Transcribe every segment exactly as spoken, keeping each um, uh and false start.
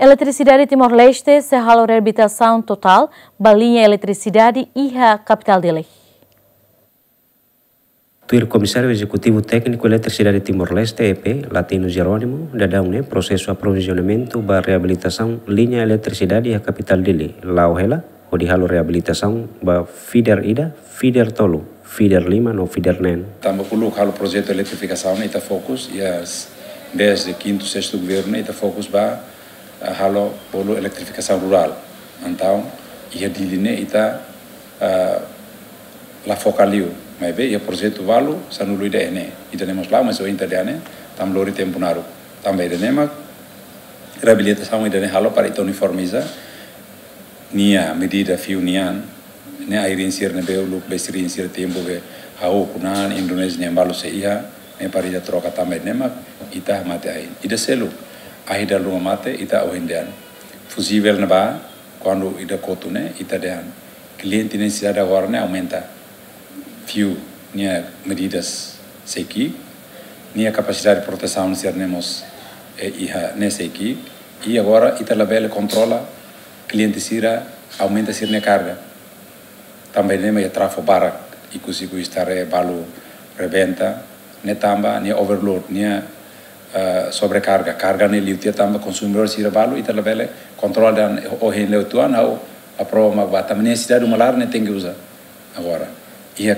Eletrisidade Timor-Leste sei halo reabilitasaun totál ba liña eletrisidade iha kapitál Dili. Tuir Komisáriu Ezekutivu Tékniku Eletrisidade Timor-Leste, E P, Latino Jerónimo, daudaun ne'e prosesu aprovizionamentu ba reabilitasaun liña eletrisidade iha kapitál Dili la'o hela, hodi halo reabilitasaun ba feeder ida, feeder tolu, feeder lima no feeder neen. Tanba uluk halo projetu eletrifikasaun, ita fokus, iha s-, desde kintu, sestu governu, ita fokus ba, ah, halo bolu eletrifikasaun rurál. Entaun, iha Dili ne'e ita, ah, la foka liu. Maibé, iha projetu balu, sanulu ida ne'e. Ida-ne'e mós la'o, mas ohin ita dehan ne'e, tanba lori tempu naruk. Tanba ida-ne'e mak, reabilitasaun ida-ne'e halo para ita uniformiza nia medida fiu nian, ne'e ai-riin sira ne'ebé uluk be sira-nia tempu be ha'u ukun an, Indonézia nian balu sei iha, ne'e para ita troka tanba ne'e mak ita hamate ahi. Ida seluk, ahi dala ruma mate ita ohin dehan. Fuzivel ne'ebá, kuandu ida kotu ne'e, ita dehan. Kliente ne'e sira agora ne'e aumenta. Fiu nia medidas sei ki'ik, nia kapasidade protesaun sira-ne'e mós, eh, iha ne'e sei ki'ik, i agora ita labele kontrola kliente sira aumenta sira-nia karga. Tanba ne'e mak iha trafo barak, ikus-ikus Starrah balu rebenta, ne'e tanba nia overload, nia, eh, sobrekarga, karga ne'e liu tiha tanba konsumidór sira balu, ita labele kontrola dehan ohin lewat tuan, ha'u aprova mak bá, tanba nesesidade uma laran ne'e tenke uza. Agora, iha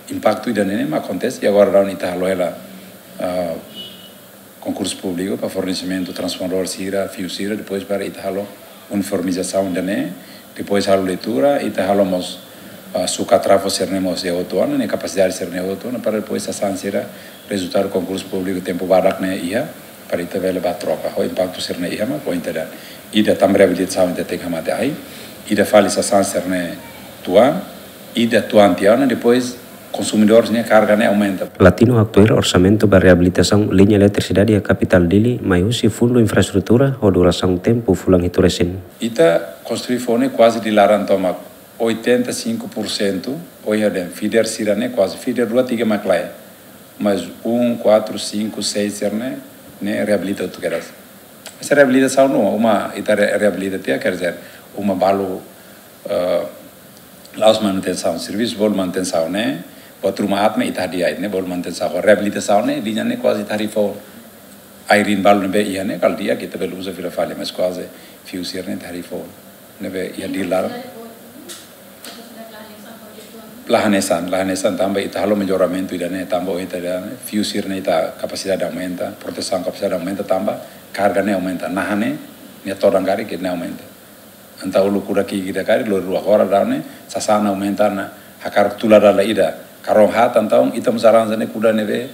impaktu ida-ne'e mak akontese, i agora daudaun ita halo hela, ah, konkursu públiku para fornesimentu transformadór sira, fiu sira, depois para ita halo uniformizasaun ida-ne'e, depois halo leitura, ita halo mós, ah, sukat trafo sira-ne'e mós iha hotu ona, nia kapasidade sira-ne'e hotu ona, para depois sasán sira rezultadu konkursu públiku tempu badak ne'e iha, para ita bele bá troka. Ho impaktu sira-ne'e iha mak, ho ita dehan. Ida tanba reabilitasaun ita tenke hamate ahi, ida fali sasán sira-ne'e tuan, ida tuan tiha ona, depois konsumidór nia karga ne'e aumenta. Latino haktuir orsamentu ba reabilitasaun liña eletrisidade iha kapitál Dili mai husi Fundu Infraestrutura ho durasaun tempu fulan hitu resin. Ita konstrui foun ne'e kuaze di laran tomak, oitenta e cinco por cento, oiha dehan feeder sira-ne'e kuaze, feeder rua tiga mak lae. Mas um, quatro, cinco, seis sira-ne'e, ne'e reabilita hotu kedas. Se reabilitasaun ne'e, uma ita re-, reabilita tiha, quer dizer, uma balu, eh, la'ós manutensaun, servisu bolu manutensaun ne'e, buat ruma aat mak ita hadi'a, ne'e bolu manutensaun. Reabilitasaun ne'e, liña ne'e kuaze ita harii foun. Ai-riin balu ne'ebé iha ne'e, kala di'ak ita bele uza fila fali, mas kuaze fiu sira-ne'e ita harii foun. Ne'ebé iha Dili laran. La hanesan, la hanesan tanba ita halo melloramentu ida-ne'e, tanba ohin ita dehan ne'e, fiu sira-ne'e ita kapasidade aumenta, protesaun kapasidade aumenta tanba karga ne'e aumenta, naha ne'e, nia todan karik ne'e aumenta. Entaun uluk kuda ki'ik ida karik, lori rua, agora daudaun ne'e, sasán aumenta ona, hakarak tula dala ida. Karong haat entaun, ita mós arranja ne'e kuda ne'ebé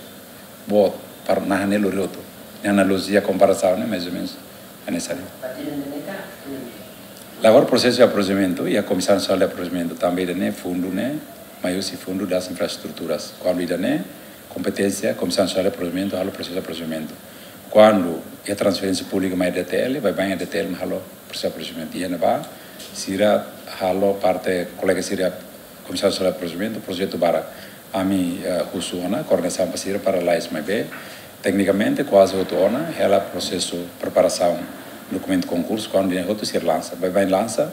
boot, para naha ne'e lori hotu. Nia analojia komparasaun ne'e, mais ou menos, hanesan ne'e. La agora prosesu de aprovizionamentu, iha Komisaun Nasionál de Aprovizionamentu, tanba ida-ne'e fundu ne'e, mai husi Fundu das Infraestruturas. Kuandu ida-ne'e, kompeténsia, Komisaun Nasionál de Aprovizionamentu, halo prosesu de aprovizionamentu. Kuandu iha transferénsia públika mai D T L, baibain D T L mak halo prosesu de aprovizionamentu. Iha ne'ebá, sira halo parte, kolega sira Komisaun Nasionál de Aprovizionamentu, projetu barak. Ami, eh, husu ona, koordenasaun ba sira para lais maibé. Teknikamente, kuaze hotu ona, hela prosesu preparasaun dokumentu konkursu, kuandu ida-ne'e hotu sira lansa. Baibain lansa,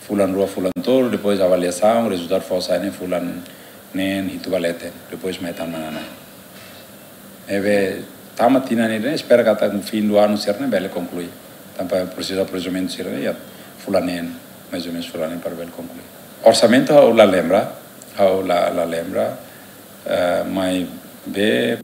fulan rua, fulan tolu, depois avaliasaun, rezultadu fó sai ne'e fulan neen, hitu ba leten, depois mai tan manana. Ne'ebé tama tinan ida-ne'e, espera katak no fim do ano sira-ne'e bele konklui. Tanba prosesu aprovizionamentu sira-ne'e iha fulan neen, mais ou menos fulan neen para bele konklui. Orsamentu ha'u la lembra, ha'u la, la lembra, eh, maibé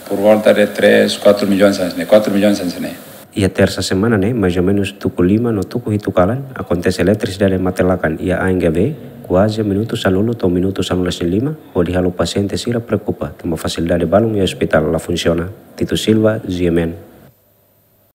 por volta de três, quatro milhões hanesan ne'e, quatro milhões hanesan ne'e. Iha tersa semana ne'e, mais ou menos tuku lima no tuku hitu kalan, akontese eletrisidade mate-lakan iha A N G V, kuaze minutu sanulu to'o minutu sanulu-resin-lima, hodi halo pasiente sira preokupa, tanba fasilidade balun iha ospitál la funsiona. Tito Silva, G M N.